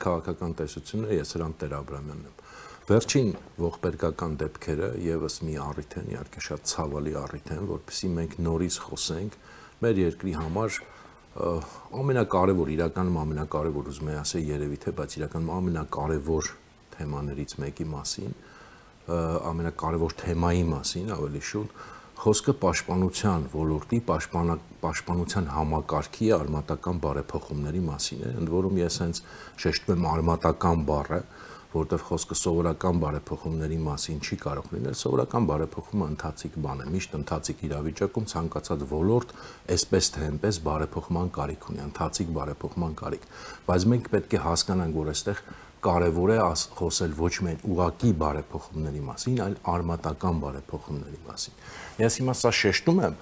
քաղաքական տեսությունը ես Հրանտ Տեր-Աբրամյանն եմ։ Վերջին ողբերգական դեպքերը եւս մի առիթ են, իհարկե շատ ցավալի առիթ են, որովհետեւ մենք նորից խոսենք մեր երկրի համար ամենակարևոր, իրականում ամենակարևոր ուզում եմ ասել երևի թե, բայց իրականում ամենակարևոր թեմաներից մեկի մասին, ամենակարևոր թեմայի մասին, ավելի շուտ, խոսքը պաշտպանության ոլորտի, պաշտպանության համակարգի արմատական բարեփոխումների մասին է, ընդ որում ես հենց շեշտում եմ արմատական բառը, որտեղ խոսքը սովորական բարեփոխումների մասին չի կարող լինել, սովորական բարեփոխումը ընթացիկ բան է, միշտ ընթացիկ իրավիճակում ցանկացած ոլորտ այսպես թե այնպես բարեփոխման կարիք ունի, ընթացիկ բարեփոխման կարիք, բայց մենք պետք է հասկանանք, որ այստեղ կարևոր է խոսել ոչ միայն ուղղակի բարեփոխումների մասին, այլ արմատական բարեփոխումների մասին։ Ես հիմա սա շեշտում եմ,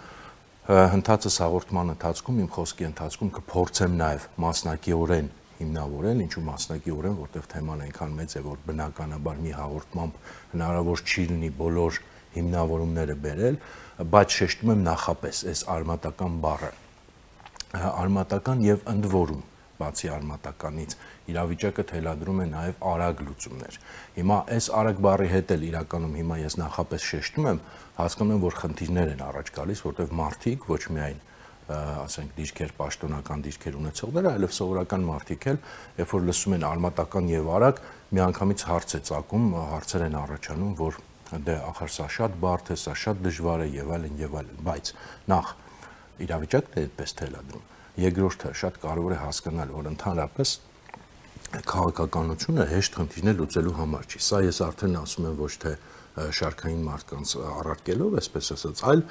հնդածս հաղորդման ընթացքում, իմ խոսքի ընթացքում կփորձեմ նաև մասնակիորեն հիմնավորել, ինչու մասնակիորեն, որտեղ թեման այնքան մեծ է, որ բնականաբար մի հաղորդմամբ հնարավոր չի լինի բոլոր հիմնավորումները բերել, բայց շեշտում եմ նախապես այս արմատական բառը, արմատական եւ ընդ որում բացի արմատականից իրավիճակը թելադրում է նաև արագ լուծումներ։ Հիմա այս արագ բառի հետ էլ իրականում հիմա ես նախապես շեշտում եմ, հասկանում եմ, որ խնդիրներ են առաջ գալիս, որտեղ մարդիկ ոչ միայն ասենք դիրքեր, պաշտոնական դիրքեր ունեցողները, այլև սովորական մարդիկ էլ, երբ որ լսում են արմատական եւ արագ, միանգամից հարց է ծագում, հարցեր են առաջանում, որ դե ախր սա շատ բարդ է, սա շատ դժվար է եւ այլն, բայց նախ իրավիճակն է այդպես թելադրում։ Երկրորդը շատ կարևոր է հասկանալ, որ ընդհանրապես քաղաքականությունը հեշտ խնդիրներ լուծելու համար չի։ Սա ես արդեն ասում եմ ոչ թե շարքային մարդկանց առարկելով, այսպես ասած, այլ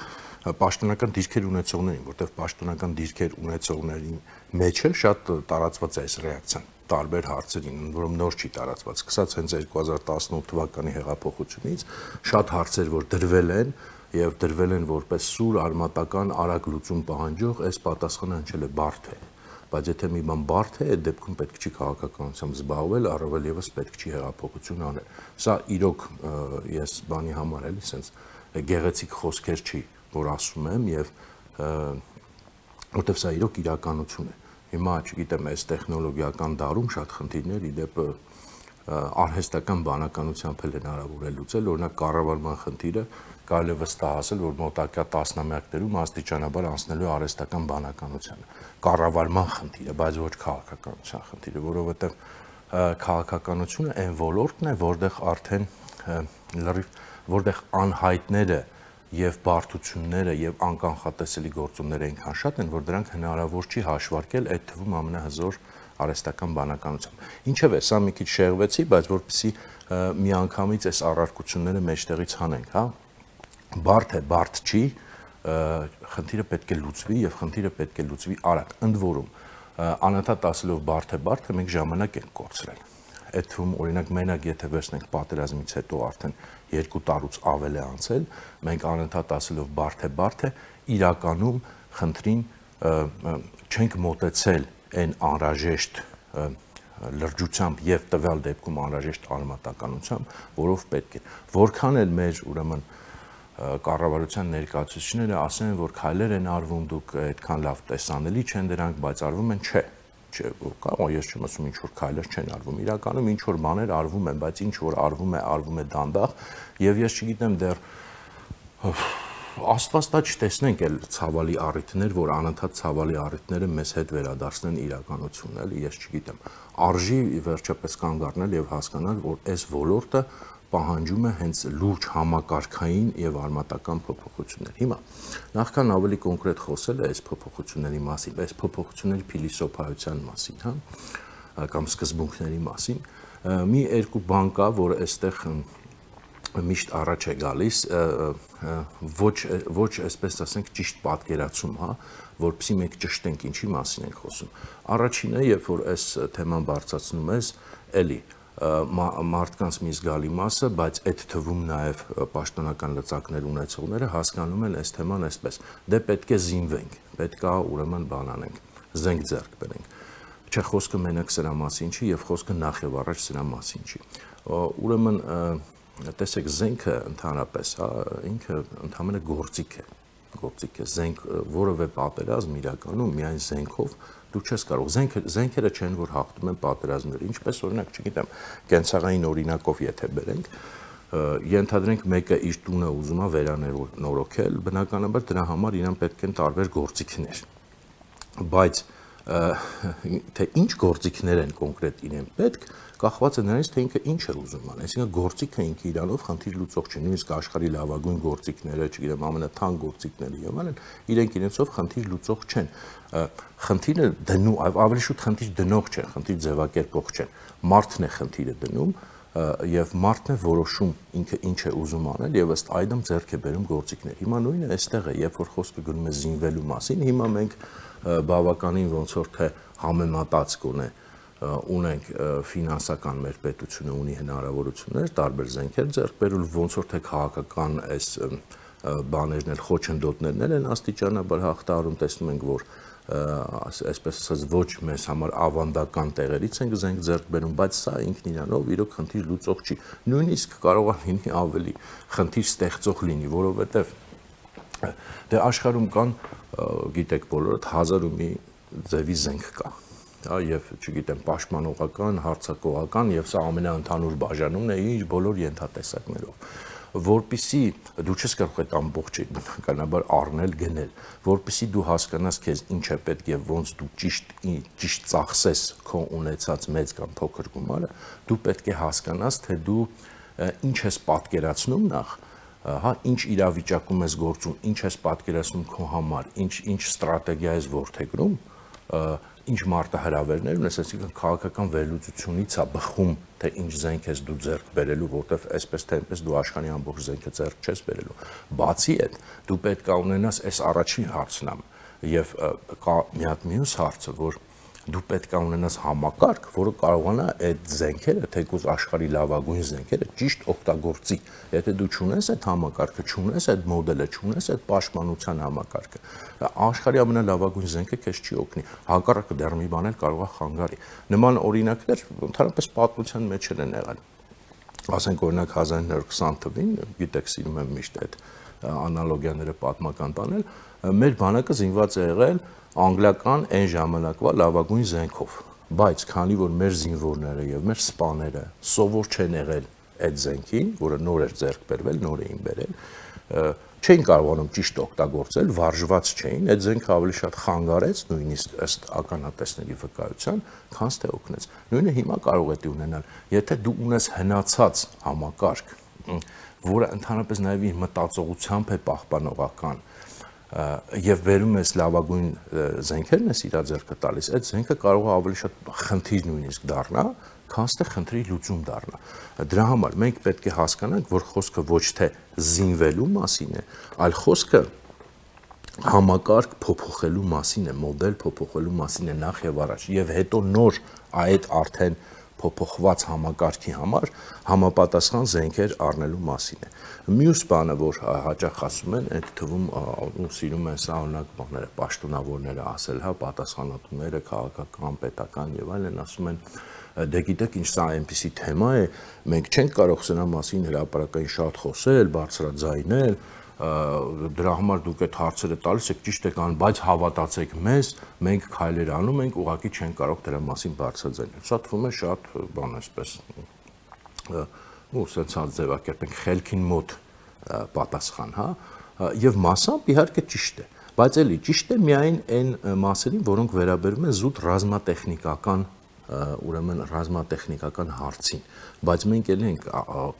պաշտոնական դիրքեր ունեցողներին, որտեղ պաշտոնական դիրքեր ունեցողների մեջ էլ շատ տարածված է այս ռեակցիան տարբեր հարցերին, որում նոր չի տարածված, սկսած հենց 2018 թվականի հեղափոխությունից, շատ հարցեր, որ դրվել են եւ դրվել են որպես սուր արմատական արագ լուծում պահանջող, այս պատասխանը հնչել է բարդ է, բայց եթե մի բան բարդ է, այդ դեպքում պետք չի քաղաքականությամբ զբաղվել, առավել եւս պետք չի հեղափոխություն անել։ Սա իրոք ես բանի համար էլի sense գեղեցիկ խոսքեր չի, որ ասում եմ եւ որտեվ սա իրոք իրականություն է։ Հիմա, չգիտեմ, այս տեխնոլոգիական դարում շատ խնդիրներ իդեպ արհեստական բանականությամբ էլ հնարավոր է լուծել, օրինակ կառավարման խնդիրը կարելի է վստահ ասել, որ մոտակա տասնամյակներում աստիճանաբար անցնելու արհեստական բանականությանը։ Կառավարման խնդիրը, բայց ոչ քաղաքականության խնդիրը, որովհետև քաղաքականությունը այն ոլորտն է, որտեղ արդեն որտեղ անհայտները եւ բարդությունները եւ անկանխատեսելի գործոնները այնքան շատ են, որ դրանք հնարավոր չի հաշվարկել այդ թվում ամենահզոր արհեստական բանականությամբ։ Ինչևէ, սա մի քիչ շեղվեցի, բայց որպեսզի միանգամից այս առարկությունները մեջտեղից հանենք, հա։ Բարդ է, բարդ չի, խնդիրը պետք է լուծվի եւ խնդիրը պետք է լուծվի արագ։ Ընդ որում, անընդհատ ասելով բարդ է, մենք ժամանակ ենք կորցրել։ Այդ թվում օրինակ մենակ եթե վերցնենք պատերազմից հետո արդեն 2 տարուց ավել է անցել, մենք անընդհատ ասելով բարդ է, իրականում խնդրին չենք մոտեցել այն անհրաժեշտ լրջությամբ եւ տվյալ դեպքում անհրաժեշտ արմատականությամբ, որով պետք է։ Որքան էլ մեր ուրեմն կառավարության ներկայացուցիչները ասեն, որ քայլեր են արվում, դուք այդքան լավ տեսանելի չեն դրանք, բայց արվում են, չէ, ես չեմ ասում ինչ որ քայլեր չեն արվում, իրականում ինչ որ բաներ արվում են, բայց ինչ որ արվում է դանդաղ, եւ ես չգիտեմ դեռ Աստված տա չտեսնենք էլ ցավալի առիթներ, որ անընդհատ ցավալի առիթները մեզ հետ վերադարձնեն իրականություն, էլի, ես չգիտեմ, արժի վերջապես կանգ առնել եւ հասկանալ, որ այս ոլորտը պահանջում է հենց լուրջ համակարգային եւ արմատական փոփոխություններ։ Հիմա նախքան ավելի կոնկրետ խոսել այս փոփոխությունների մասին, այս փոփոխությունների փիլիսոփայության մասին, հա, կամ սկզբունքների մասին, մի երկու բան կա, որ այստեղ միշտ առաջ է գալիս, ոչ այսպես ասենք ճիշտ պատկերացում, հա, որպեսզի մենք ճշտենք ինչի մասին ենք խոսում։ Առաջինը, երբ որ այս թեման բարձրացնում ես, էլի մարդկանց մի զգալի մասը, բայց այդ թվում նաև պաշտոնական լծակներ ունեցողները հասկանում են այս թեման այսպես. դե պետք է զինվենք, պետք է ուրեմն բան անենք, զենք ձեռք բերենք։ Չէ, խոսքը մենակ սրա մասին չի եւ խոսքը նախ եւ առաջ սրա մասին չի։ Ուրեմն տեսեք, զենքը ընդհանրապես, հա, ինքը ընդհանրապես գործիք է, զենք որևէ պատերազմ իրականում միայն զենքով դու չես կարող, զենքերը չեն, որ հաղթում են պատերազմները, ինչպես օրինակ, չգիտեմ, կենցաղային օրինակով եթե բերենք, ենթադրենք մեկը իր տունը ուզում է վերանորոգել, բնականաբար դրա համար իրան պետք են տարբեր գործիքներ, բայց թե ինչ գործիքներ են կոնկրետ իրեն պետք, կախված է նրանից, թե ինքը ինչ է ուզում ան, այսինքն գործիքը ինքը իրանով խնդիր լուծող չէ, նույնիսկ աշխարհի լավագույն գործիքները, չգիտեմ, ամենաթանկ գործիքները եւ այլն, իրենք իրենցով խնդիր լուծող չեն։ Խնդիրը դնում, ավելի շուտ խնդիր դնող չեն, խնդիր ձևակերպող չեն։ Մարդն է խնդիրը դնում եւ մարդն է որոշում ինքը ինչ է ուզում անել եւ ըստ այդմ ձեռք է բերում գործիքներ։ Հիմա նույնը այստեղ է, երբ որ խոսքը գնում է զինվելու մասին, հիմա մենք բավականին ոնց որ թե համեմատած կոնե ունենք ֆինանսական մեր պետությունը ունի հնարավորություններ տարբեր զենքեր ձեռք բերել ոնց որ թե քաղաքական այս բաներն էլ խոչընդոտներն են աստիճանաբար հաղթահարում տեսնում ենք որ այսպես ասած ոչ մեզ համար ավանդական տեղերից ենք զենք ձեռք բերում բայց սա ինքն իրանով իրոք խնդիր լուծող չի նույնիսկ կարող է լինի ավելի խնդիր ստեղծող լինի որովհետև դե աշխարհում կան գիտեք բոլորդ 1000 ու մի ձևի զենք կա եւ չգիտեմ պաշտպանողական, հարձակողական եւ սա ամենաընդհանուր բաժանումն է իր բոլոր ենթատեսակներով որպիսի դու չես կարող այդ ամբողջը բնականաբար առնել գնել որպիսի դու հասկանաս քեզ ինչ է պետք եւ ոնց դու ճիշտ ծախսես քո ունեցած մեծ կամ փոքր գումարը դու պետք է հասկանաս թե դու ինչ ես պատկերացնում նախ հա ինչ իրավիճակում ես գործում ինչ ես պատկերացնում քո համար ինչ ստրատեգիա ես որդեգրում ինչ մարտահրավերներ ունես, այսինքն քաղաքական վերլուծությունից է բխում, թե ինչ զենք ես դու ձեռք բերելու, որտեվ այսպես թե այնպես դու աշխարհի ամբողջ զենքը ձեռք չես բերելու։ Բացի այդ, դու պետք է ունենաս այս առաջին հարցն եւ կա մի հատ մյուս հարցը, որ դու պետք է ունենաս համակարգ, որը կարողանա այդ զենքերը, թեկուզ աշխարհի լավագույն զենքերը ճիշտ օգտագործի։ Եթե դու չունես այդ համակարգը, չունես այդ մոդելը, չունես այդ պաշտպանության համակարգը, աշխարհի ամենալավագույն զենքը քեզ չի օգնի։ Հակառակը դեռ մի բան էլ կարող է խանգարի։ Նման օրինակներ ընդհանրապես պատմության մեջ են եղել։ Ասենք օրինակ 1920 թվականին, գիտեք, սիրում եմ միշտ այդ անալոգիաները պատմական տանել, մեր բանակը զինված է եղել անգլիական այն ժամանակվա լավագույն զենքով, բայց քանի որ մեր զինվորները եւ մեր սպաները սովոր չեն եղել այդ զենքին, որը նոր էր ձեռք բերվել, նոր էին բերել, չէին կարողանում ճիշտ օգտագործել, վարժված չէին, այդ զենքը ավելի շատ խանգարեց, նույնիսկ ըստ ականատեսների վկայության, քան թե օգնեց։ Նույնը հիմա կարող է ունենալ, եթե դու ունես հնացած համակարգ, որը ընդհանրապես նաեւ իր մտածողությամբ է պահպանողական եւ վերում ես լավագույն զենքերն ես իր ձեռքը տալիս, այդ զենքը կարող է ավելի շատ խնդիր նույնիսկ դառնա, քան թե խնդրի լուծում դառնա։ Դրա համար մենք պետք է հասկանանք, որ խոսքը ոչ թե զինվելու մասին է, այլ խոսքը համակարգ փոփոխելու մասին է, մոդել փոփոխելու մասին է նախ եւ առաջ, եւ հետո նոր այդ արդեն փոփոխված համակարգի համար համապատասխան զենքեր առնելու մասին է։ Մյուս բանը, որ հաճախ ասում են, այդ թվում ու սիրում են սա օրինակ բաները, պաշտոնավորները ասել, հա, պատասխանատուները, քաղաքական, պետական եւ այլն ասում են, դե գիտեք, ինչ սա այնպիսի թեմա է, մենք չենք կարող սրա մասին հրապարակային շատ խոսել, բարձրաձայնել, դրա համար դուք այդ հարցերը տալիս եք ճիշտ եք անում, բայց հավատացեք մեզ, մենք քայլեր անում ենք, ուղղակի չեն կարող դրա մասին բարձրաձայնել։ Սա թվում է շատ բան այսպես ու սենսած ձևակերպենք խելքին մոտ պատասխան, հա, եւ մասամբ իհարկե ճիշտ է, բայց էլի ճիշտ է միայն այն մասերին, որոնք վերաբերում են զուտ ռազմատեխնիկական ուրեմն ռազմատեխնիկական հարցին, բայց մենք էլ ենք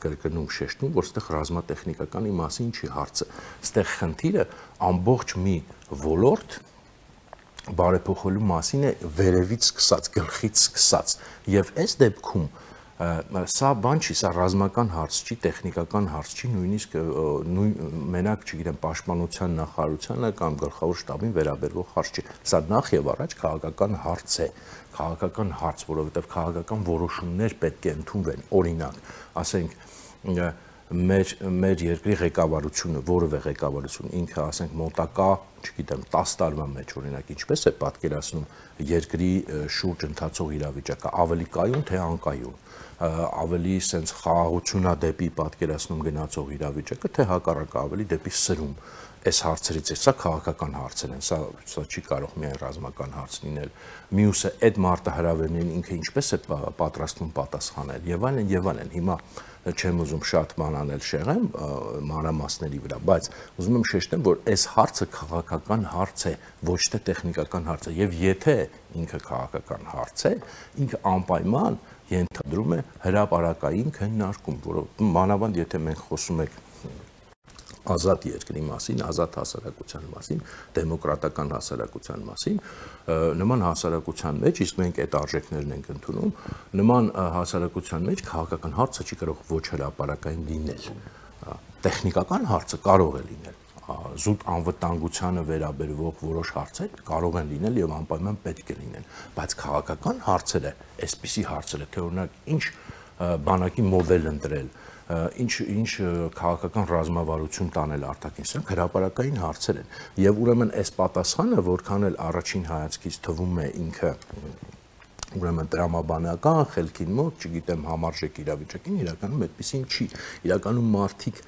կրկնում շեշտում, որ այստեղ ռազմատեխնիկականի մասին չի հարցը, այստեղ խնդիրը ամբողջ մի ոլորտ բարեփոխելու մասին է վերևից սկսած, գլխից սկսած, եւ այս դեպքում սա բան չի, սա ռազմական հարց չի, տեխնիկական հարց չի, նույնիսկ մենակ, չգիտեմ, պաշտպանության նախարարությանը կամ գլխավոր շտաբին վերաբերող հարց չի։ Սա նախ եւ առաջ քաղաքական հարց է, քաղաքական հարց, որովհետեւ քաղաքական որոշումներ պետք է ընդունվեն։ Օրինակ, ասենք մեր երկրի ղեկավարությունը, որևէ ղեկավարություն, ինքը ասենք մոտակա չգիտեմ, 10 տարվա մեջ օրինակ ինչպես է պատկերացնում երկրի շուրջ ընթացող իրավիճակը, ավելի կայուն թե անկայուն, ավելի սենց խաղաղությունա դեպի պատկերացնում գնացող իրավիճակը, թե հակառակը ավելի դեպի սրում։ Այս հարցերից է, սա քաղաքական հարցեր են, սա չի կարող միայն ռազմական հարց լինել։ Մյուսը այդ մարտահրավերներին ինքը ինչպես է պատրաստվում պատասխանել եւ այլն։ Հիմա չեմ ուզում շատ բան անել շեղեմ մանրամասների վրա, բայց ուզում եմ շեշտեմ, որ այս հարցը քաղաքական հարց է, ոչ թե տեխնիկական հարց է, եւ եթե ինքը քաղաքական հարց է, ինքը անպայման ենթադրում է հրապարակային քննարկում, որը մանավանդ եթե մենք խոսում ենք ազատ երկրի մասին, ազատ հասարակության մասին, դեմոկրատական հասարակության մասին, նման հասարակության մեջ, իսկ մենք այդ արժեքներն ենք ընդունում, նման հասարակության մեջ քաղաքական հարցը չի կարող ոչ հրապարակային լինել։ Տեխնիկական հարցը կարող է լինել, զուտ անվտանգությանը վերաբերող որոշ հարցեր կարող են լինել եւ անպայման պետք է լինեն, բայց քաղաքական հարցերը, այսպիսի հարցերը, թե օրինակ ինչ բանակի մոդել ընտրել, ինչ քաղաքական ռազմավարություն տանել արտաքին, սրանք հրապարակային հարցեր են եւ ուրեմն այս պատասխանը որքան էլ առաջին հայացքից թվում է ինքը ուրեմն տրամաբանական խելքին մոտ, չգիտեմ, համարժեք իրավիճակին, իրականում այդպեսին չի։ Իրականում մարդիկ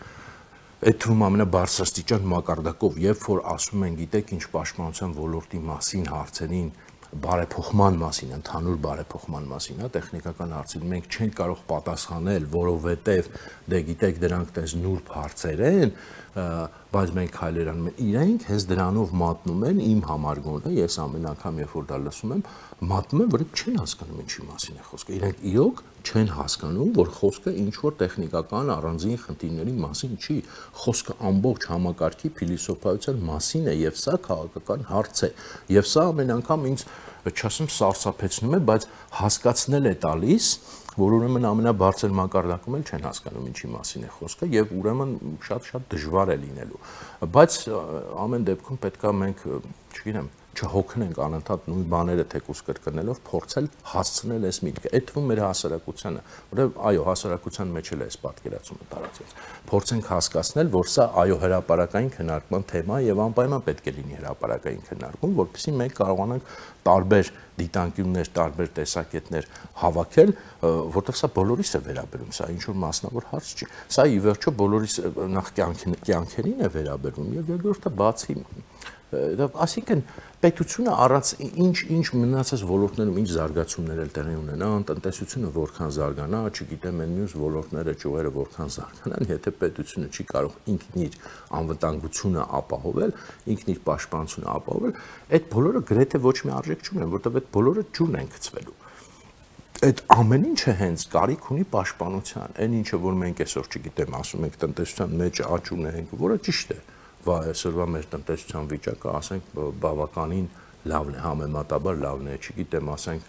այդ թվում ամենաբարձրաստիճան մակարդակով, երբ որ ասում են, գիտեք, ինչ պաշտպանության ոլորտի մասին հարցերին բարեփոխման մասին, ընդհանուր բարեփոխման մասին, տեխնիկական հարցին մենք չենք կարող պատասխանել, որովհետև դե գիտեք դրանք տես նուրբ հարցեր են, բայց մենք քայլեր անում ենք, իրենք հենց դրանով մատնում են իմ համար գոնե, ես ամեն անգամ երբ որ դա լսում եմ, մատնում են, որ չեն հասկանում ինչի մասին է խոսքը, իրենք իրոք չեն հասկանում, որ խոսքը ինչ որ տեխնիկական առանձին խնդիրների մասին չի, խոսքը ամբողջ համակարգի փիլիսոփայության մասին է եւ սա քաղաքական հարց է եւ սա ամեն անգամ ինձ չասեմ սարսափեցնում է, բայց հասկացնել է տալիս, որ ուրեմն ամենաբարձր մակարդակում էլ չեն հասկանում ինչի մասին է խոսքը եւ ուրեմն շատ դժվար է լինելու, բայց ամեն դեպքում պետքա մենք, չգիտեմ, չհոգնենք անընդհատ նույն բաները թեկուզ կրկնելով փորձել հասցնել այս միտքը, այդ թվում մեր հասարակությանը, որովհետեւ այո, հասարակության մեջ էլ է այս պատկերացումը տարածված։ Փորձենք հասկացնել, որ սա այո հրապարակային քննարկման թեմա է եւ անպայման պետք է լինի հրապարակային քննարկում, որովհետեւ մենք կարողանանք տարբեր դիտանկյուններ, տարբեր տեսակետներ հավաքել, որտեղ սա բոլորիս է վերաբերում, սա ինչ որ մասնավոր հարց չի։ Սա ի վերջո բոլորիս նախ կյանքերին է վերաբերում եւ երկրորդը բացի Այսինքն պետությունը առանց ինչ մնացած ոլորտներում ինչ զարգացումներ էլ տեղի ունենա, տնտեսությունը որքան զարգանա, չգիտեմ, այն մյուս ոլորտները, ճյուղերը որքան զարգանան, եթե պետությունը չի կարող ինքն իր անվտանգությունը ապահովել, ինքն իր պաշտպանությունը ապահովել, այդ բոլորը գրեթե ոչ մի արժեք չունեն, որտեղ այդ բոլորը ջուրն են գցվելու։ Այդ ամեն ինչը հենց կարիք ունի պաշտպանության, այն ինչը որ մենք այսօր չգիտեմ, ասում ենք տնտեսության մեջ աճ ունենք, որը ճիշտ է։ Այսօրվա մեր տնտեսության վիճակը, ասենք, բավականին լավն է, համեմատաբար լավն է, չգիտեմ, ասենք,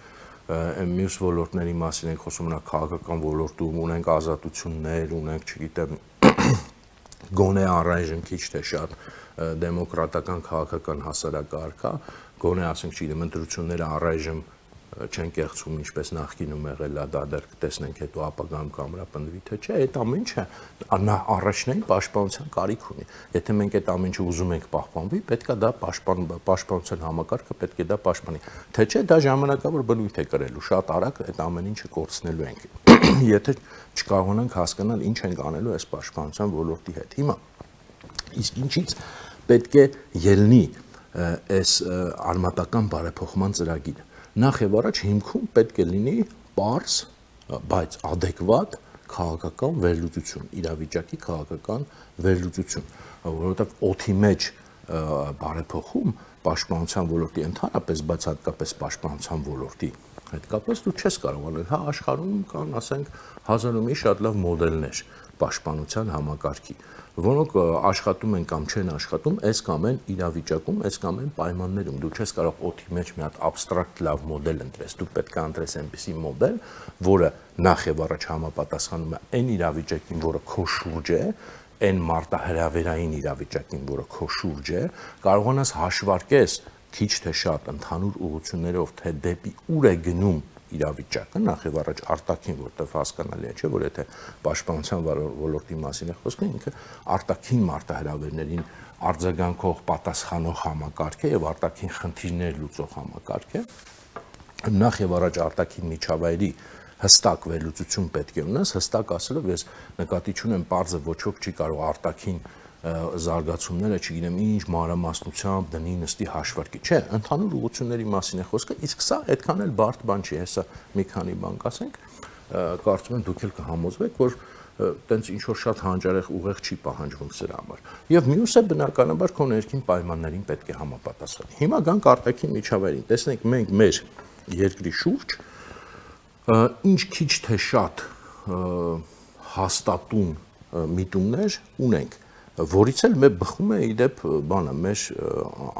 մյուս ոլորտների մասին ենք խոսում, քաղաքական ոլորտում ունենք ազատություններ, ունենք, չգիտեմ, գոնե առայժմ քիչ թե շատ դեմոկրատական քաղաքական հասարակարգ կա, գոնե ասենք, չգիտեմ, ընտրությունները առայժմ չեն կեղծում ինչպես նախկինում եղել է, դա դեռ կտեսնենք հետո ապագայում կամրապնդվի թե չէ, այդ ամեն ինչը առաջնային պաշտպանության կարիք ունի։ Եթե մենք այդ ամեն ինչը ուզում ենք պահպանվի, պետք է դա պաշտպանության համակարգը պետք է դա պաշտպանի։ Թե չէ դա ժամանակավոր բնույթ է կրելու, շատ արագ այդ ամեն ինչը կորցնելու ենք։ Եթե չկարողանանք հասկանալ ինչ ենք անելու այս պաշտպանության ոլորտի հետ։ Հիմա իսկ ինչից պետք է ելնի այս արմատական բարեփոխման ծրագիրը։ Նախ եւ առաջ հիմքում պետք է լինի պարզ, բայց adekvat քաղաքական վերլուծություն, իրավիճակի քաղաքական վերլուծություն, որովհետեւ օդի մեջ բարեփոխում պաշտպանության ոլորտի ընդհանրապես, բայց հատկապես պաշտպանության ոլորտի հետ կապված դու չես կարող անել, հա աշխարհում կան, ասենք, հազար ու մի շատ լավ մոդելներ պաշտպանության համակարգի, որոնք աշխատում են կամ չեն աշխատում, այս կամ այն իրավիճակում, այս կամ այն պայմաններում։ Դու չես կարող օդի մեջ մի հատ абստրակտ լավ մոդել ընտրես, դու պետք է ընտրես այնպիսի մոդել, որը նախ եւ առաջ համապատասխանում է այն իրավիճակին, որը քո շուրջ է, այն մարտահրավերային իրավիճակին, որը քո շուրջ է, կարողանաս հաշվարկես քիչ թե շատ ընդհանուր ուղղություններով, թե դեպի ուր է գնում իրավիճակը, նախ եւ առաջ արտաքին, որտեղ հասկանալի է, չէ, որ եթե պաշտպանության ոլորտի մասին է խոսքը, ինքը արտաքին մարտահրավերներին արձագանքող, պատասխանող համակարգ է եւ արտաքին խնդիրներ լուծող համակարգ է։ Նախ եւ առաջ արտաքին միջավայրի հստակ վերլուծություն պետք է ունես, հստակ ասելով ես նկատի չունեմ պարզը ոչ ոք չի կարող արտաքին զարգացումները, չգիտեմ, ինչ մանրամասնությամբ դնի նստի հաշվարկի, չէ, ընդհանուր ուղղությունների մասին է խոսքը, իսկ սա այդքան էլ բարդ բան չի, հեսա մի քանի բան կասենք, կարծում եմ դուք էլ կհամոզվեք, որ տենց ինչ որ շատ հանճարեղ ուղեղ չի պահանջվում սրա համար։ Եվ մյուսը բնականաբար քո ներքին պայմաններին պետք է համապատասխանի։ Հիմա գանք արտաքին միջավայրին։ Տեսնենք մենք մեր երկրի շուրջ ինչ քիչ թե շատ հաստատուն միտումներ ունենք, որից էլ մեր բխում է իդեպ բանը մեր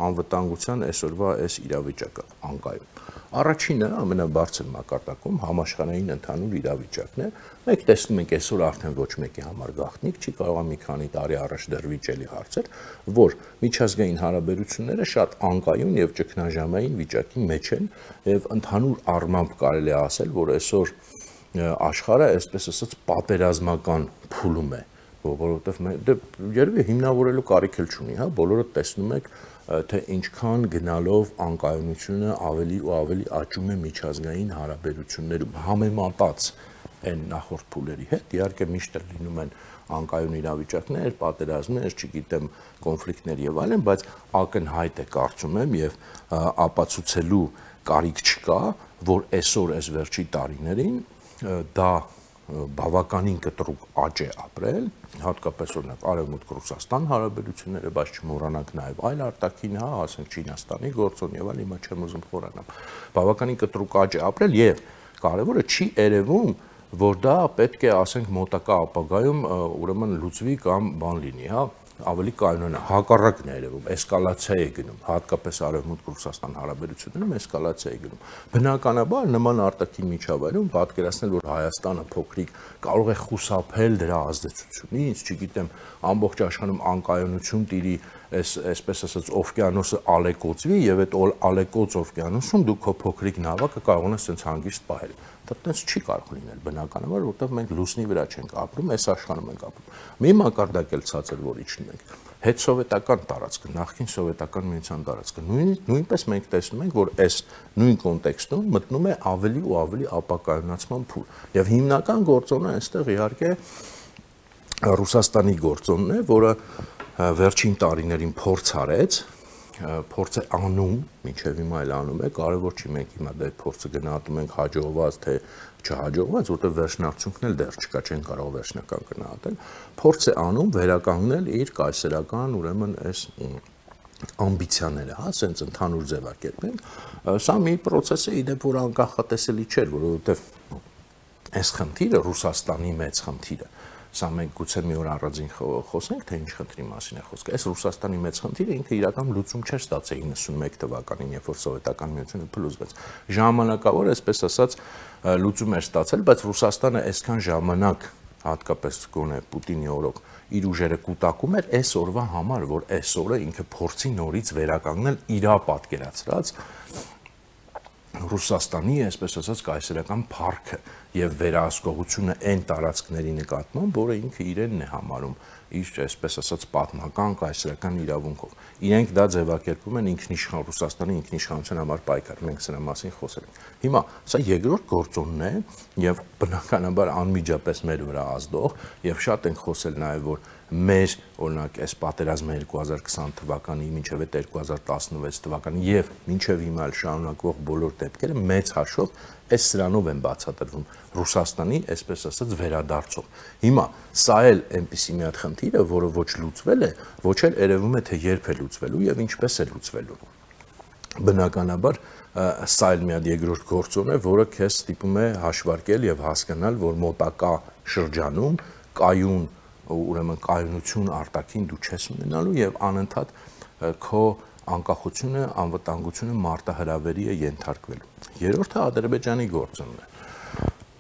անվտանգության այսօրվա այս իրավիճակը անկայուն։ Առաջինը ամենաբարձր մակարդակում համաշխարհային ընդհանուր իրավիճակն է։ Մենք տեսնում ենք այսօր արդեն ոչ մեկի համար գաղտնիք չի, կարող է մի քանի տարի առաջ դեռ վիճելի հարցեր, որ միջազգային հարաբերությունները շատ անկայուն եւ ճգնաժամային վիճակի մեջ են եւ ընդհանուր առմամբ կարելի է ասել, որ այսօր աշխարհը, այսպես ասած, պատերազմական փուլում է, որովհետեւ երևի հիմնավորելու կարիք էլ չունի, հա, բոլորը տեսնում եք թե ինչքան գնալով անկայունությունը ավելի ու ավելի աճում է միջազգային հարաբերություններում համեմատած այն նախորդ փուլերի հետ, իհարկե միշտ լինում են անկայուն իրավիճակներ, պատերազմներ, չգիտեմ, կոնֆլիկտներ եւ այլն, բայց ակնհայտ է կարծում եմ եւ ապացուցելու կարիք չկա, որ այսօր այս վերջի տարիներին դա բավականին կտրուկ աճ է ապրել, հատկապես օրինակ Արևմուտք Ռուսաստան հարաբերությունները, բայց չմոռանանք նաև այլ արտաքին, հա, ասենք Չինաստանի գործոն եւ այլ, հիմա չեմ ուզում խորանալ։ Բավականին կտրուկ աճ է ապրել եւ կարևորը չի երևում, որ դա պետք է, ասենք, մոտակա ապագայում ուրեմն լուծվի կամ բան լինի, հա, ավելի կայունանա, հակառակն է երևում, էսկալացիա է գնում, հատկապես Արևմուտք Ռուսաստան հարաբերություններում էսկալացիա է գնում։ Բնականաբար նման արտաքին միջավայրում պատկերացնել, որ Հայաստանը փոքրիկ կարող է խուսափել դրա ազդեցությունից, չգիտեմ, ամբողջ աշխարհում անկայունություն տիրի, այսպես ասած, օվկիանոսը ալեկոծվի եւ այդ ալեկոծ օվկիանոսում դու քո փոքրիկ նավակը կարողանաս այնց հանգիստ պահել։ Դա տենց չի կարող լինել բնականաբար, որովհետեւ մենք լուսնի վրա չենք ապրում, այս աշխարհում ենք ապրում։ Մի մակարդակ էլ ցածր որ իջնում ենք։ Հետսովետական տարածքը, նախկին սովետական միության տարածքը, նույնպես մենք տեսնում ենք, որ այս նույն կոնտեքստում մտնում է ավելի ու ավելի ապակայունացման փուլ։ Եվ հիմնական գործոնը այստեղ իհարկե Ռուսաստանի գործոնն է, որը վերջին տարիներին փորձ արեց, փորձ է անում, մինչև հիմա էլ անում է, կարևոր չի մենք հիմա դա փորձը գնահատում ենք հաջողված թե չհաջողված, որտեղ վերջնարդյունքն էլ դեռ չկա, չեն կարող վերջնական գնահատել, փորձ է անում վերականգնել իր կայսերական, ուրեմն այս ամբիցիաները, հա, ասենց ընդհանուր ձևակերպենք, սա մի process է, իդեպ որ անկախատեսելի չէր, որովհետև այս խնդիրը Ռուսաստանի մեծ խնդիրը Սա մենք գուցե մի օր առանձին խոսենք, թե ինչ խնդրի մասին է խոսքը։ Այս Ռուսաստանի մեծ խնդիրը ինքը իրական լուծում չէր ստացել 91 թվականին, երբ որ սովետական միությունը փլուզվեց։ Ժամանակավոր, այսպես ասած, լուծում էր ստացել, բայց Ռուսաստանը այսքան ժամանակ, հատկապես գոնե Պուտինի օրոք, իր ուժերը կուտակում էր այս օրվա համար, որ այս օրը ինքը փորձի նորից վերականգնել իր պատկերացրած Ռուսաստանի, այսպես ասած, կայսերական փառքը եւ վերահսկողությունը այն տարածքների նկատմամբ, որը ինքը իրենն է համարում իր, այսպես ասած, պատմական կայսերական իրավունքով։ Իրենք դա ձևակերպում են ինքնիշխան Ռուսաստանի ինքնիշխանության համար պայքար, մենք սրա մասին խոսել ենք։ Հիմա սա երկրորդ գործոնն է եւ բնականաբար անմիջապես մեր վրա ազդող եւ շատ ենք խոսել նաեւ, որ մեր օրինակ այս պատերազմը 2020 թվականի մինչև 2016 թվականի եւ մինչև հիմա էլ շարունակվող բոլոր դեպքերը մեծ հաշվով այս սրանով են բացատրվում Ռուսաստանի, այսպես ասած, վերադարձով։ Հիմա սա էլ այնպիսի մի հատ խնդիր է, որը ոչ լուծվել է, ոչ էլ երևում է թե երբ է լուծվելու եւ ինչպես է լուծվելու։ Բնականաբար սա էլ մի հատ երկրորդ գործոն է, որը քեզ ստիպում է հաշվարկել եւ հասկանալ, որ մոտակա շրջանում կայուն ուրեմն կայունություն արտաքին դու չես ունենալու եւ անընդհատ քո անկախությունը, անվտանգությունը մարտահրավերի է ենթարկվելու։ Երրորդը Ադրբեջանի գործոնն է։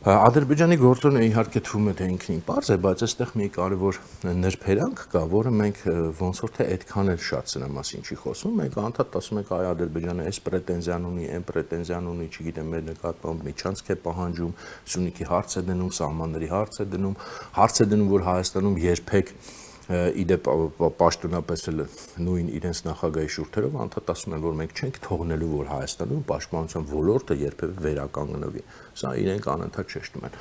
Ադրբեջանի գործոնը իհարկե թվում է թե ինքնին պարզ է, բայց այստեղ մի կարևոր նրբերանգ կա, որը մենք ոնց որ թե այդքան էլ շատ սրա մասին չի խոսում, մենք անդադ ասում ենք այ Ադրբեջանը այս պրետենզիան ունի, այն պրետենզիան ունի, չգիտեմ, մեր նկատմամբ միջանցք է պահանջում, Սյունիքի հարց է դնում, սահմանների հարց է դնում, որ Հայաստանում երբեք իդեպ պաշտոնապես նույն իրենց նախագահի շուրթերով անդադ ասում են, որ մենք չենք թողնելու, որ Հայաստանում պաշտպանության ոլորտը երբևէ վերականգնվի։ Սա իրենք անընդհատ շեշտում են։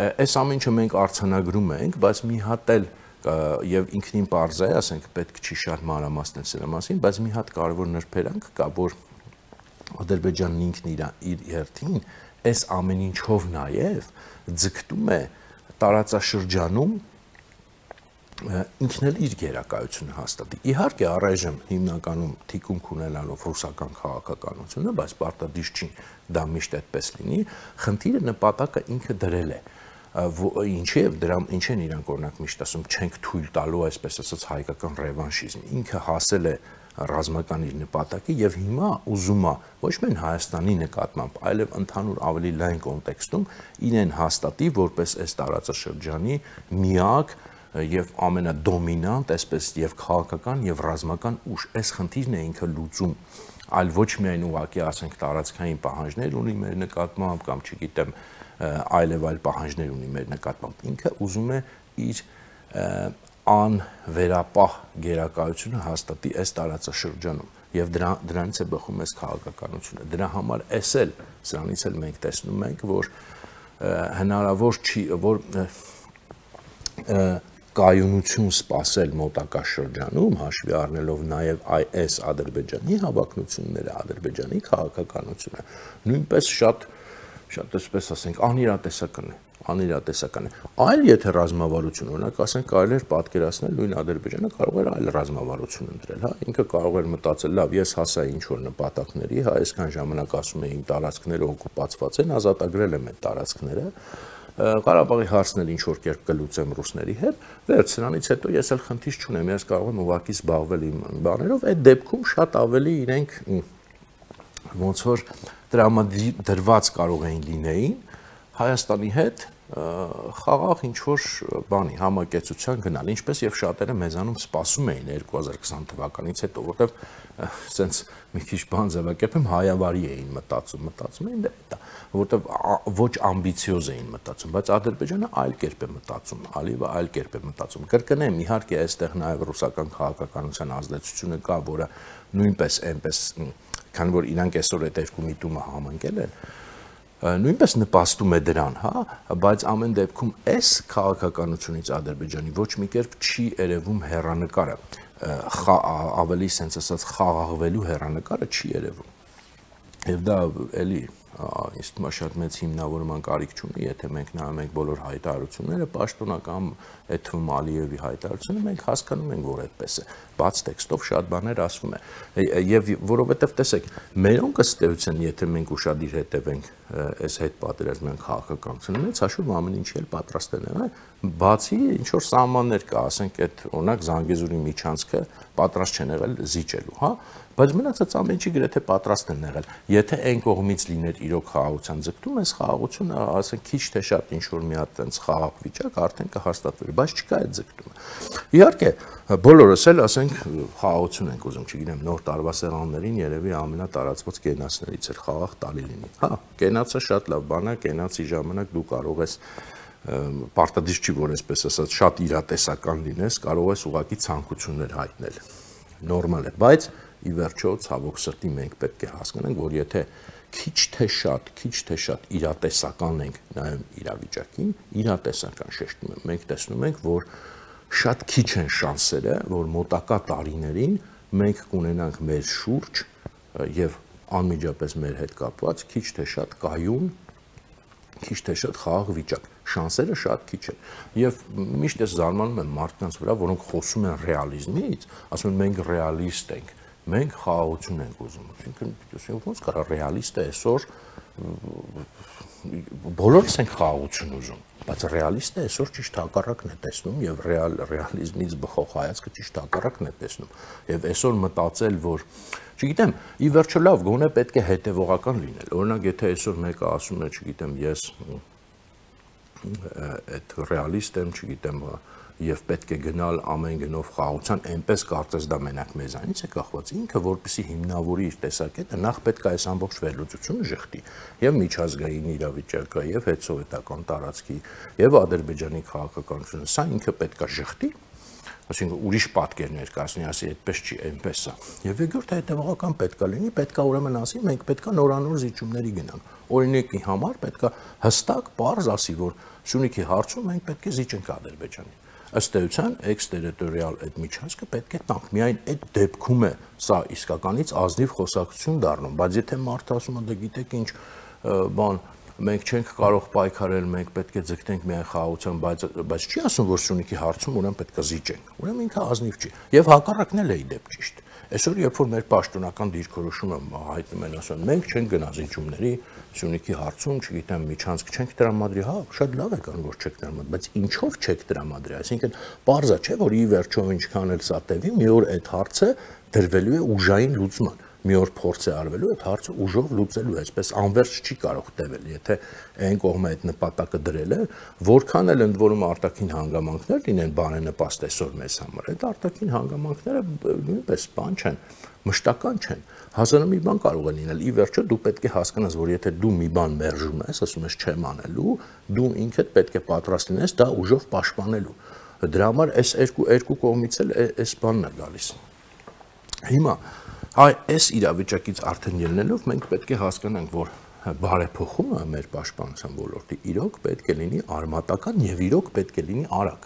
Այս ամեն ինչը մենք արձանագրում ենք, բայց մի հատ էլ եւ ինքնին պարզ է, ասենք պետք չի շատ մանրամասնել սրա մասին, բայց մի հատ կարևոր նրբերանգ կա, որ Ադրբեջանն ինքն իր հերթին այս ամեն ինչով նաեւ ձգտում է տարածաշրջանում ինքն էլ իր գերակայությունը հաստատի։ Իհարկե առայժմ հիմնականում թիկունք ունենալով ռուսական քաղաքականությունը, բայց պարտադիր չի դա միշտ այդպես լինի, խնդիրը նպատակը ինքը դրել է։ Ինչ են իրանք օրինակ միշտ ասում, չենք թույլ տալու, այսպես ասած, հայկական ռևանշիզմ։ Ինքը հասել է ռազմական իր նպատակի եւ հիմա ուզում է ոչ միայն Հայաստանի նկատմամբ, այլև ընդհանուր ավելի լայն կոնտեքստում իրեն հաստատի որպես այս տարածաշրջանի միակ եւ ամենադոմինանտ, այսպես եւ քաղաքական եւ ռազմական ուժ։ Այս խնդիրն է ինքը լուծում, այլ ոչ միայն ուղղակի ասենք տարածքային պահանջներ ունի մեր նկատմամբ կամ չգիտեմ այլ պահանջներ ունի մեր նկատմամբ։ Ինքը ուզում է իր անվերապահ գերակայությունը հաստատի այս տարածաշրջանում եւ դրանից է բխում այս քաղաքականությունը։ Դրա համար սրանից էլ մենք տեսնում ենք, որ հնարավոր չի, որ կայունություն սպասել մոտակա շրջանում, հաշվի առնելով նաև այս Ադրբեջանի հավակնությունները, Ադրբեջանի քաղաքականությունը, նույնպես շատ այսպես ասենք, անիրատեսական է։ Այլ եթե ռազմավարություն, օրինակ ասենք, կարելի էր պատկերացնել նույն Ադրբեջանը կարող էր այլ ռազմավարություն ընտրել, հա, ինքը կարող էր մտածել, լավ, ես հասա ինչ որ նպատակների, հա, այսքան ժամանակ ասում էին տարածքները օկուպացված են, ազատագրել եմ այդ տարածքները, Ղարաբաղի հարցն էլ ինչ որ կերպ կլուծեմ ռուսների հետ, վերջ սրանից հետո ես էլ խնդիր չունեմ, ես կարող եմ ուղղակի զբաղվել իմ բաներով, այդ դեպքում շատ ավելի իրենք ոնց որ տրամադրված կարող էին լինեին Հայաստանի հետ խաղաղ ինչ որ բանի համակեցության գնալ, ինչպես եւ շատերը մեզանում սպասում էին 2020 թվականից հետո, որտեվ սենց մի քիչ բան ձևակերպեմ հայավարի էին մտածում էին դա, որտեվ ոչ ամբիցիոզ էին մտածում, բայց Ադրբեջանը այլ կերպ է մտածում, Ալիևը այլ կերպ է մտածում։ Կրկնեմ, իհարկե այստեղ նաեւ ռուսական քաղաքականության ազդեցությունը կա, որը նույնպես այնպես, քանի որ իրանք այսօր այդ երկու միտումը համընկել են, նույնպես նպաստում է դրան, հա, բայց ամեն դեպքում այս քաղաքականությունից Ադրբեջանի ոչ մի կերպ չի երևում հեռանկարը, ավելի sense ասած խաղաղվելու հեռանկարը չի երևում։ Եվ դա էլի ինձ թվում է շատ մեծ հիմնավորման կարիք չունի, եթե մենք նայում ենք բոլոր հայտարարությունները, պաշտոնական այդ թվում Ալիևի հայտարարությունը, մենք հասկանում ենք, որ այդպես է, բաց տեքստով շատ բաներ ասվում է, եւ որովհետեւ տեսեք, մերոնք ըստ էության, եթե մենք ուշադիր հետևենք այս հետ պատերազմյան քաղաքականությունը, մեծ հաշվով ամեն ինչի էլ պատրաստ են եղել, բացի ինչ որ սահմաններ կա, ասենք այդ օրինակ Զանգեզուրի միջանցքը պատրաստ չեն եղել զիջելու, հա, բայց մնացած ամեն ինչի գրեթե պատրաստ են եղել։ Եթե այն կողմից լիներ իրոք խաղաղության ձգտում, այս խաղաղությունը, ասենք, քիչ թե շատ ինչ որ մի հատ այնց խաղաղ վիճակ արդեն կհաստատվեր, բայց չկա այդ ձգտումը։ Իհարկե, բոլորս էլ, ասենք, խաղաղություն ենք ուզում, չգիտեմ, նոր տարվա սեղաններին երևի ամենատարածված կենացներից էր խաղաղ տալի լինի։ Հա, կենացը շատ լավ բան է, կենացի ժամանակ դու կարող ես պարտադիր չի, որ այսպես ասած, շատ իրատեսական լինես, կարող ես ուղղակի ցանկություններ հայտնել։ Նորմալ է, բայց ի վերջո ցավոք սրտի մենք պետք է հասկանանք, որ եթե քիչ թե շատ իրատեսական ենք նայում իրավիճակին, իրատեսական շեշտում եմ, մենք տեսնում ենք, որ շատ քիչ են շանսերը, որ մոտակա տարիներին մենք կունենանք մեր շուրջ եւ անմիջապես մեր հետ կապված քիչ թե շատ կայուն, քիչ թե շատ խաղաղ վիճակ, շանսերը շատ քիչ են։ Եվ միշտ ես զարմանում եմ մարդկանց վրա, որոնք խոսում են ռեալիզմից, ասում են մենք ռեալիստ ենք, մենք խաղաղություն ենք ուզում։ Այսինքն ոնց կարա ռեալիստը այսօր բոլորս ենք խաղաղություն ուզում, բայց ռեալիստը այսօր ճիշտ հակառակն է տեսնում եւ ռեալիզմից բխող հայացքը ճիշտ հակառակն է տեսնում։ Եվ այսօր մտածել, որ չգիտեմ, ի վերջո լավ, գոնե պետք է հետևողական լինել։ Օրինակ, եթե այսօր մեկը ասում է, չգիտեմ, ես այդ ռեալիստ եմ, չգիտեմ, եւ պետք է գնալ ամեն գնով խաղաղության, այնպես կարծես դա մենակ մեզանից է կախված, ինքը որպեսի հիմնավորի իր տեսակետը, նախ պետք է այս ամբողջ վերլուծությունը շղթի եւ միջազգային իրավիճակը եւ հետսովետական տարածքի եւ Ադրբեջանի քաղաքականությունը, սա ինքը պետք է շղթի, այսինքն ուրիշ պատկեր ներկայացնի, ասի այդպես չի, այնպես է։ Եվ երկրորդը հետևողական պետք է լինի, պետք է ուրեմն ասի, մենք պետք է նորանոր զիջումների գնանք։ Օրինակի համար պետք է հստակ պարզ ասի, որ Սյունիքի հարցում մենք պետք է զիջենք Ադրբեջանին։ Ըստ էության էքստերիտորիալ այդ միջանցքը պետք է տանք։ Միայն այդ դեպքում է սա իսկականից ազնիվ խոսակցություն դառնում, բայց եթե մարդը ասում է, դե գիտեք ինչ, բան մենք չենք կարող պայքարել, մենք պետք է ձգտենք միայն խաղաղության, բայց չի ասում, որ Սյունիքի հարցում ուրեմն պետք է զիջենք։ Ուրեմն ինքը ազնիվ չի։ Եվ հակառակն էլ է ի դեպ ճիշտ։ Այսօր երբ որ մեր պաշտոնական դիրքորոշումը հայտնում են, ասում են, մենք չենք գնա զիջումների Սյունիքի հարցում, չգիտեմ, միջանցք չենք տրամադրի, հա, շատ լավ է կան, որ չեք տրամադրի, բայց ինչով չեք տրամադրի, այսինքն պարզ է, չէ, որ ի վերջո ինչքան էլ սա տևի, մի օր այդ հարցը դրվելու է ուժային լուծման։ Մի օր փորձ է արվելու այդ հարցը ուժով լուծելու, այսպես անվերջ չի կարող տևել, եթե այն կողմը այդ նպատակը դրել է, որքան էլ ընդ որում արտաքին հանգամանքներ լինեն բարենպաստ այսօր մեզ համար, այդ արտաքին հանգամանքները նույնպես բան չեն, մշտական չեն, հազար մի բան կարող է լինել, ի վերջո դու պետք է հասկանաս, որ եթե դու մի բան մերժում ես, ասում ես չեմ անելու, դու ինքդ պետք է պատրաստ լինես դա ուժով պաշտպանելու, դրա համար այս երկու կողմից էլ այս բանն է գալիս։ Հիմա այս իրավիճակից արդեն ելնելով մենք պետք է հասկանանք, որ բարեփոխումը մեր պաշտպանության ոլորտի իրոք պետք է լինի արմատական եւ իրոք պետք է լինի արագ,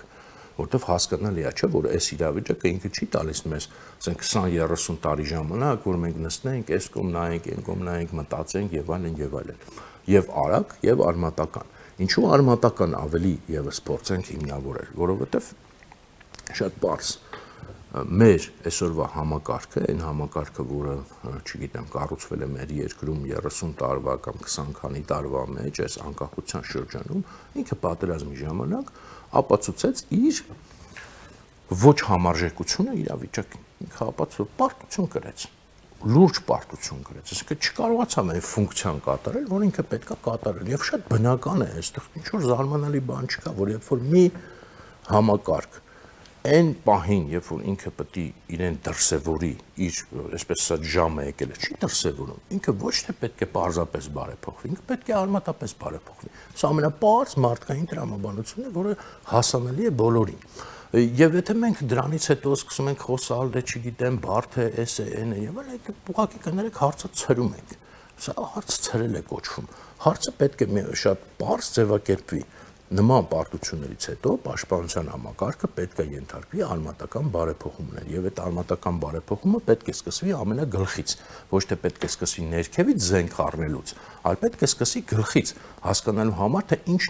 որտեվ հասկանալի է, չէ, որ այս իրավիճակը ինքը չի տալիս մեզ, ասենք 20-30 տարի ժամանակ, որ մենք նստենք, այս կողմ նայենք, այն կողմ նայենք, մտածենք եւ այլն եւ այլն, եւ արագ եւ արմատական։ Ինչու արմատական ավելի եւս փորձենք հիմնավորել, որովհետեւ շատ պարզ մեր այսօրվա համակարգը, այն համակարգը, որը, չգիտեմ, կառուցվել է մեր երկրում 30 տարվա կամ 20 քանի տարվա մեջ, այս անկախության շրջանում, ինքը պատերազմի ժամանակ ապացուցեց իր ոչ համարժեքությունը իրավիճակին։ Ինքը ապացուցեց պարտություն կրեց, լուրջ պարտություն կրեց, այսինքն չկարողացավ այն ֆունկցիան կատարել, որ ինքը պետք է կատարել, եւ շատ բնական է, այստեղ ինչ-որ զարմանալի բան չկա, որ երբ որ մի համակարգ այն պահին, երբ որ ինքը պետք է իրեն դրսևորի, իր այսպես ասած ժամը եկել է, չի դրսևորում, ինքը ոչ թե պետք է պարզապես բարեփոխվի, ինքը պետք է արմատապես բարեփոխվի։ Սա ամենապարզ մարդկային տրամաբանությունն է, որը հասանելի է բոլորին։ Եվ եթե մենք դրանից հետո սկսում ենք խոսալ, դե չգիտեմ, բարդ է, էս է, այն է, եւ այլն, ուղղակի կներեք հարցը ցրում ենք։ Սա հարց ցրել է կոչվում։ Հարցը պետք է շատ պարզ ձևակերպվի։ Նման պարտություններից հետո պաշտպանության համակարգը պետք է ենթարկվի արմատական բարեփոխումներ եւ այդ արմատական բարեփոխումը պետք է սկսվի ամենագլխից, ոչ թե պետք է սկսվի ներքևից զենք առնելուց, այլ պետք է սկսվի գլխից, հասկանալու համար թե ինչ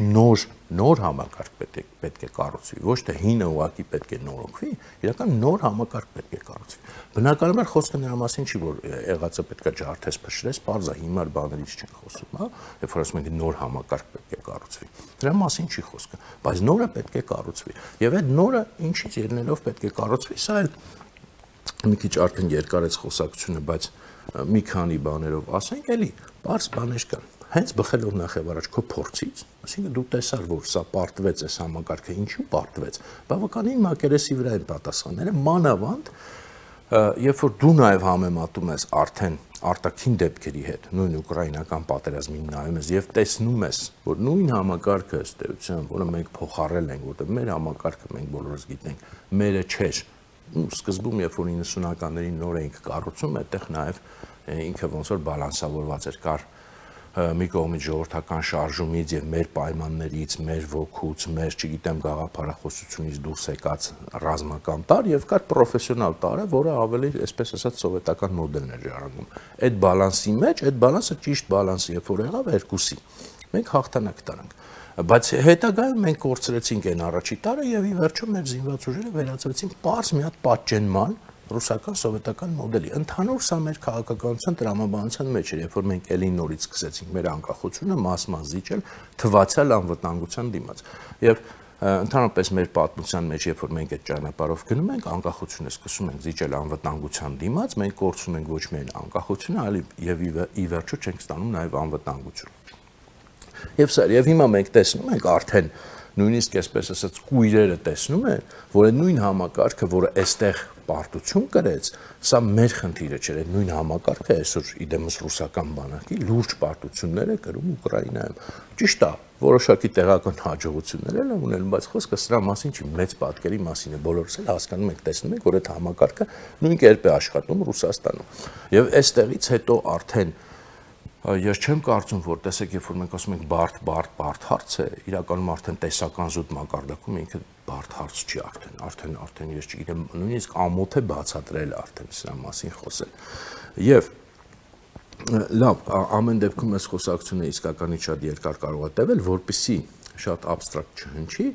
նոր համակարգ պետք է կառուցվի, ոչ թե հինը ուղղակի պետք է նորոգվի, իրական նոր համակարգ պետք է կառուցվի։ Բնականաբար խոսքը նրա մասին չի, որ եղածը պետք է ջարդես փշրես, բարձա հիմար բաներից չեն խոսում, հա, երբ որ ասում ենք նոր համակարգ պետք է կառուցվի։ Դրա մասին չի խոսքը, բայց նորը պետք է կառուցվի։ Եվ այդ նորը ինչից ելնելով պետք է կառուցվի, սա էլ մի քիչ արդեն երկարեց խոսակցությունը, բայց մի քանի բաներով ասենք, էլի բարձ բաներ կան։ Հենց բխելով նախևառաջ քո փորձից, այսինքն դու տեսար, որ սա պարտվեց այս համակարգը, ինչու պարտվեց, բավականին մակերեսի վրա են պատասխանները, մանավանդ երբ որ դու նաև համեմատում ես արդեն արտաքին դեպքերի հետ, նույն ուկրաինական պատերազմին նայում ես եւ տեսնում ես, որ նույն համակարգը ըստ էության, որը մենք փոխառել ենք, որտեղ մեր համակարգը մենք բոլորս գիտենք, մերը չէր։ Սկզբում երբ որ 90-ականներին նոր էինք կառուցում, այդտեղ նաև ինքը ոնց որ բալանսավորված էր, կար մի կողմից ժողովրդական շարժումից եւ մեր պայմաններից, մեր ոգուց, մեր, չգիտեմ, գաղափարախոսությունից դուրս եկած ռազմական տար եւ կար պրոֆեսիոնալ տարը, որը ավելի, այսպես ասած, սովետական մոդելն էր ժառանգում։ Այդ բալանսի մեջ, այդ բալանսը ճիշտ բալանսի, երբ որ եղավ երկուսի, մենք հաղթանակ տարանք։ Բայց հետագայում մենք կորցրեցինք այն առաջի տարը եւ ի վերջո մեր զինված ուժերը վերածվեցին պարզ մի հատ պատճենման ռուսական սովետական մոդելի։ Ընդհանուր սա մեր քաղաքականության տրամաբանության մեջ էր, երբ որ մենք ելի նորից սկսեցինք մեր անկախությունը մաս-մաս զիջել թվացյալ անվտանգության դիմաց։ Եվ ընդհանրապես մեր պատմության մեջ, երբ որ մենք այդ ճանապարհով գնում ենք, անկախությունը սկսում ենք զիջել անվտանգության դիմաց, մենք կորցնում ենք ոչ միայն անկախությունը, այլ եւ ի վերջո չենք ստանում նաեւ անվտանգություն։ Եվ սա, եւ հիմա մենք տեսնում ենք արդեն նույնիսկ այսպես ասած կույրերը տեսնում են, որ այդ նույն համակարգը, որը այստեղ պարտություն կրեց, սա մեր խնդիրը չէր, այդ նույն համակարգը այսօր իդեմս ռուսական բանակի լուրջ պարտություններ է կրում Ուկրաինայում։ Ճիշտ է, որոշակի տեղական հաջողություններ են ունել, բայց խոսքը սրա մասին չի, մեծ պատկերի մասին է, բոլորս էլ հասկանում ենք, տեսնում ենք, որ այդ համակարգը նույն կերպ է աշխատում Ռուսաստանում։ Եվ այստեղից հետո արդեն ես չեմ կարծում, որ տեսեք, երբ որ մենք ասում ենք բարդ հարց է, իրականում արդեն տեսական զուտ մակարդակում ինքը բարդ հարց չի արդեն ես չգիտեմ, նույնիսկ ամոթ է բացատրել արդեն սրա մասին խոսել։ Եվ լավ, ամեն դեպքում այս խոսակցությունը իսկականից շատ երկար կարող է տևել, որպեսզի շատ абստրակտ չհնչի,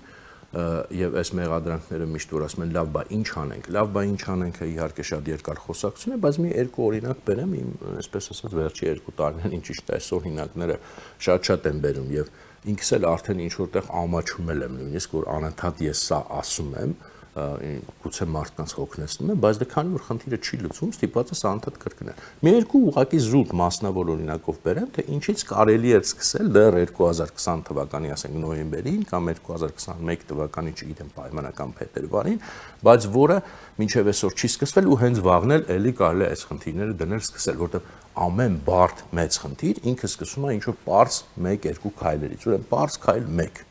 եւ այս մեղադրանքները միշտ որ ասում են լավ, բա ինչ անենք, իհարկե շատ երկար խոսակցություն է, բայց մի երկու օրինակ բերեմ, իմ այսպես ասած վերջի 2 տարիներին ինչ ճիշտ է, այս օրինակները շատ են բերում եւ ինքս էլ արդեն ինչ որտեղ ամաչումել եմ նույնիսկ որ անընդհատ ես սա ասում եմ, գուցե մարդկանց հոգնեցնում եմ, բայց դե քանի որ խնդիրը չի լուծվում, ստիպված ես անընդհատ կրկնել։ Մի երկու ուղղակի զուտ մասնավոր օրինակով բերեմ, թե ինչից կարելի է սկսել դեռ 2020 թվականի, ասենք նոյեմբերին կամ 2021 թվականի, չգիտեմ, պայմանական փետրվարին, բայց որը մինչև այսօր չի սկսվել ու հենց վաղն էլ էլի կարելի է այս խնդիրները դնել սկսել, որտեղ ամեն բարդ մեծ խնդիր ինքը սկսում է ինչ-որ պարզ 1-2 քայլերից, ուրեմն պարզ քայլ 1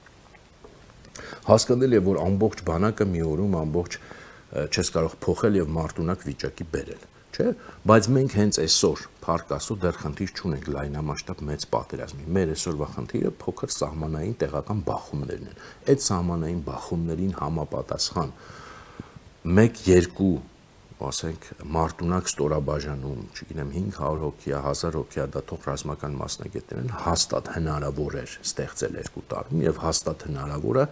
հասկանալի է, որ ամբողջ բանակը մի օրում ամբողջ չես կարող փոխել եւ մարտունակ վիճակի բերել, չէ՞, բայց մենք հենց այսօր փառք Աստծո դեռ խնդիր չունենք լայնամասշտաբ մեծ պատերազմի։ Մեր այսօրվա խնդիրը փոքր սահմանային տեղական բախումներն են։ Այդ սահմանային բախումներին համապատասխան 1-2 ասենք մարտունակ ստորաբաժանում, չգիտեմ 500 հոգի, 1000 հոգի, դա թող ռազմական մասնագետներ են, հաստատ հնարավոր էր ստեղծել 2 տարում եւ հաստատ հնարավոր է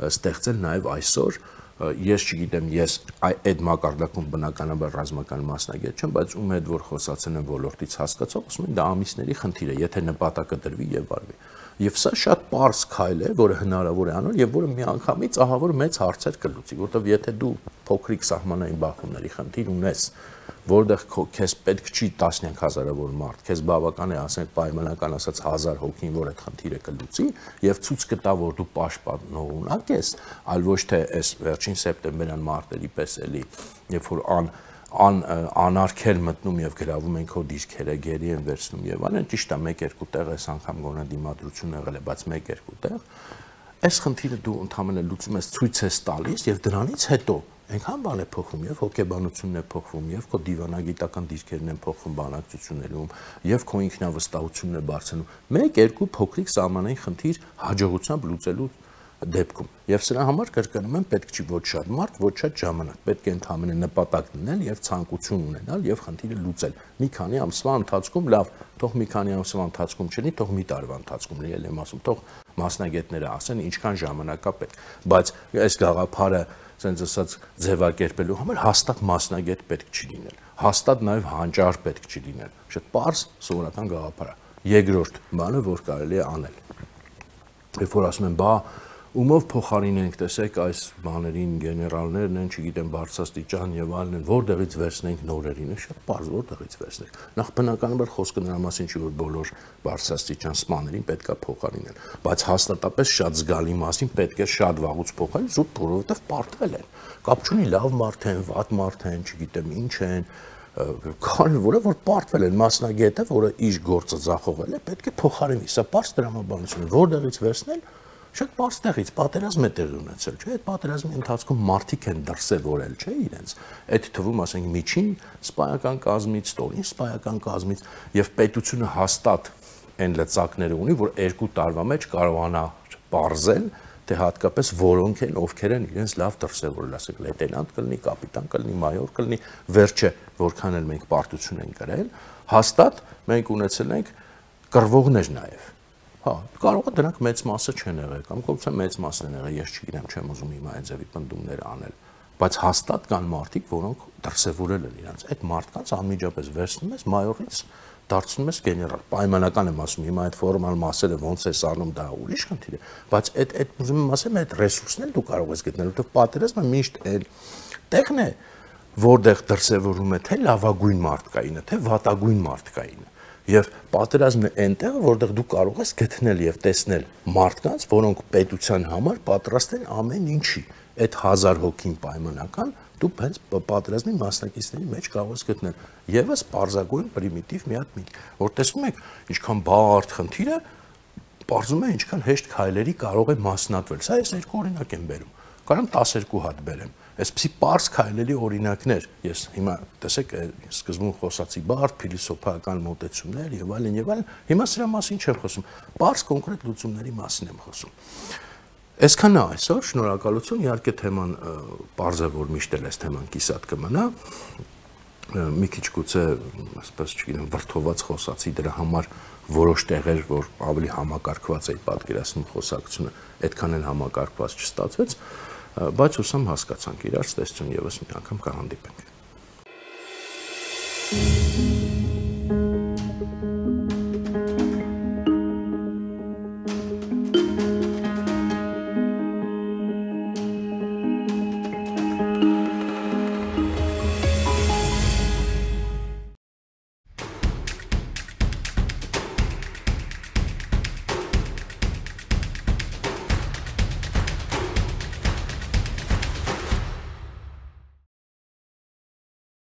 ստեղծել նաեւ այսօր, ես չգիտեմ, ես այդ մակարդակում բնականաբար ռազմական մասնագետ չեմ, բայց ում հետ որ խոսացել եմ ոլորտից հասկացող, ասում են դա ամիսների խնդիր է, եթե նպատակը դրվի եւ արվի։ Եվ սա շատ պարզ քայլ է, որը հնարավոր է անել եւ որը միանգամից ահա որ մեծ հարցեր կլուծի, որովհետեւ եթե դու փոքրիկ սահմանային բախումների խնդիր ունես, որտեղ քեզ պետք չի տասնյակ հազարավոր մարդ, քեզ բավական է ասենք պայմանական ասած 1000 հոգին, որ այդ խնդիրը կլուծի եւ ցույց կտա, որ դու պաշտպանողունակ ես, այլ ոչ թե այս վերջին սեպտեմբերյան մարտերի պես էլի, երբ որ անարգել մտնում եւ գրավում են քո դիրքերը, գերի են վերցնում եւ այլն, ճիշտ է 1-2 տեղ այս անգամ գոնե դիմադրություն եղել է, բայց 1-2 տեղ այս խնդիրը դու ընդհանրապես լուծում ես, ցույց ես տալիս եւ դրանից հետո այնքան բան է փոխվում եւ հոգեբանությունն է փոխվում եւ քո դիվանագիտական դիրքերն են փոխվում բանակցություններում եւ քո ինքնավստահությունն է բարձրանում 1-2 փոքրիկ սահմանային խնդիր հաջողությամբ լուծելու դեպքում եւ սրա համար կրկնում եմ պետք չի ոչ շատ մարդ, ոչ շատ ժամանակ, պետք է ընդհանրապես նպատակ դնել եւ ցանկություն ունենալ եւ խնդիրը լուծել։ Մի քանի ամսվա ընթացքում լավ, թող մի քանի ամսվա ընթացքում չլինի, թող մի տարվա ընթացքում լինի, եմ ասում, թող մասնագետները ասեն ինչքան ժամանակ է պետք, բայց այս գաղափարը ասենց ասած ձևակերպելու համար հաստատ մասնագետ պետք չի լինել, հաստատ նաեւ հանճար պետք չի լինել, շատ պարզ սովորական գաղափար է։ Երկրորդ բանը, որ կարելի է անել, երբ որ ասում են, բա ումով փոխարինենք, տեսեք, այս բաներին գեներալներն են, չգիտեմ, բարձրաստիճան եւ այլն, որտեղից վերցնենք նորերին, շատ պարզ, որտեղից վերցնենք։ Նախ բնականաբար խոսքը նրա մասին չի, որ բոլոր բարձրաստիճան սպաներին պետքա փոխարինել, բայց հաստատապես շատ զգալի մասին պետք է շատ վաղուց փոխել, զուտ որովհետեւ պարտվել են։ Կապ չունի լավ մարդ են, վատ մարդ են, չգիտեմ ինչ են, որը որ պարտվել են մասնագետը, որը իր գործը ձախողել է, պետք է փոխարինի։ Սա պարզ դրամաբանություն է, որտեղից վերցնել շատ պարզ տեղից պատերազմ է տեղի ունեցել, չէ՞, այդ պատերազմի ընթացքում մարդիկ են դրսևորել, չէ՞, իրենց։ Այդ թվում, ասենք, միջին սպայական կազմից, ստորին սպայական կազմից եւ պետությունը հաստատ այն լծակները ունի, որ 2 տարվա մեջ կարողանա պարզել, թե հատկապես որոնք են, ովքեր են իրենց լավ դրսևորել, ասենք, լեյտենանտ կլինի, կապիտան կլինի, մայոր կլինի, վերջը որքան էլ մենք պարտություն են կրել, հաստատ մենք ունեցել ենք կռվողներ նաեւ։ Հա, կարող է դրանք մեծ մասը չեն եղել, կամ կողքից մեծ մասն են եղել, ես չգիտեմ, չեմ ուզում հիմա այդ ձևի պնդումներ անել, բայց հաստատ կան մարդիկ, որոնք դրսևորել են իրենց։ Այդ մարդկանց անմիջապես վերցնում ես մայորից, դարձնում ես գեներալ։ Պայմանական եմ ասում, հիմա այդ ֆորմալ մասերը ոնց է սառնում, դա ուրիշ խնդիր է, բայց այդ ուզում եմ ասեմ, այդ ռեսուրսն էլ դու կարող ես գտնել, որովհետև պատերազմը միշտ այդ տեղն է, որտեղ դրսևորում է թե լավագույն մարդկայինը, թե վատագույն մարդկայինը։ Եվ պատերազմն է այնտեղ, որտեղ դու կարող ես գտնել եւ տեսնել մարդկանց, որոնք պետության համար պատրաստ են ամեն ինչի։ Այդ 1000 հոգին պայմանական դու հենց պատերազմի մասնակիցների մեջ կարող ես գտնել։ Եվս պարզագույն պրիմիտիվ մի հատ միտք, որ տեսնում եք, ինչքան բարդ խնդիր է, պարզում է ինչքան հեշտ քայլերի կարող է մասնատվել։ Սա ես երկու օրինակ եմ բերում։ Կարամ 12 հատ բերեմ։ Այսպիսի պարզ քայլերի օրինակներ, ես հիմա տեսեք, սկզբում խոսացի բարդ փիլիսոփայական մոտեցումներ եւ այլն, հիմա սրա մասին չեմ խոսում, պարզ կոնկրետ լուծումների մասին եմ խոսում։ Այսքան է այսօր, շնորհակալություն, իհարկե թեման պարզ է, որ միշտ էլ այս թեման կիսատ կմնա, մի քիչ գուցե, ասես չգիտեմ, վրդոված խոսացի դրա համար որոշ տեղեր, որ ավելի համակարգված էի պատկերացնում խոսակցությունը, այդքան էլ համակարգված չստացվեց, բայց ուսամ հասկացանք իրար, ստեսություն եւս մի անգամ կհանդիպենք։